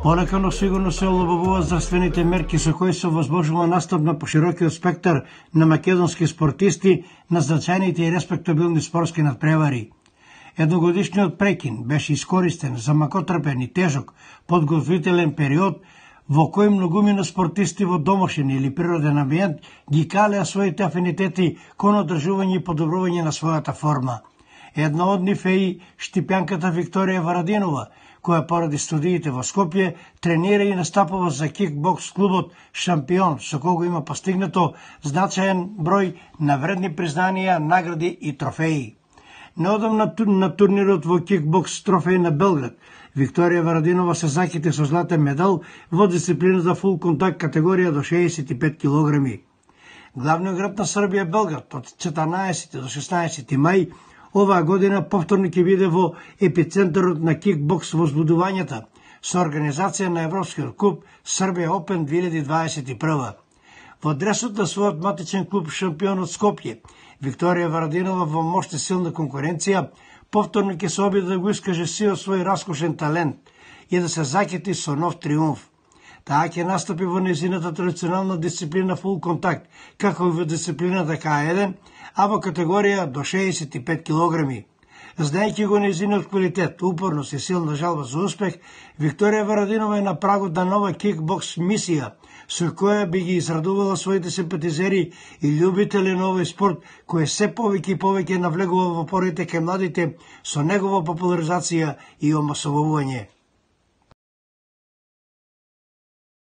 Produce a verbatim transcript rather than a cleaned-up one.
Полека, но сигурно се олабавуваат здравствените мерки со кои се возможува настап на поширокиот спектар на македонски спортисти на значајните и респектабилни спортски надпревари. Едногодишниот прекин беше искористен за макотрпен и тежок подготвителен период во кој многумина спортисти во домашен или природен амбиент ги калеа своите афинитети кон одржување и подобрување на својата форма. Една од нив е и штипјанката Викторија Варадинова, која поради студиите во Скопје тренира и настапува за кикбокс клубот Шампион, со кого има постигнато значаен број на вредни признанија, награди и трофеи. Неодамна на турнирот во кикбокс трофеј на Белград, Викторија Варадинова се заките со златен медал во дисциплината фул контакт категорија до шеесет и пет килограми. Главниот град на Србија Белград од четрнаесети до шеснаесети мај оваа година повторно ќе биде во епицентарот на кикбокс возбудувањата со организација на Европскиот куп Србија Опен две илјади дваесет и прва. Во дресот на својот матичен клуб Шампион од Скопје, Викторија Варадинова во мошта силна конкуренција повторно ќе се обиде да го искаже сиот свој раскошен талент и да се закити со нов триумф. Таа ќе настапи во незината традиционална дисциплина фул контакт, како и во дисциплината К еден, а во категорија до шеесет и пет килограми. Знаејќи го незиниот квалитет, упорност и силна жалба за успех, Викторија Варадинова е на прагот на нова кикбокс мисија, со која би ги израдувала своите симпатизери и љубители на овој спорт, кој се повеќе и повеќе навлегува во порите кај младите со негова популаризација и омасовување.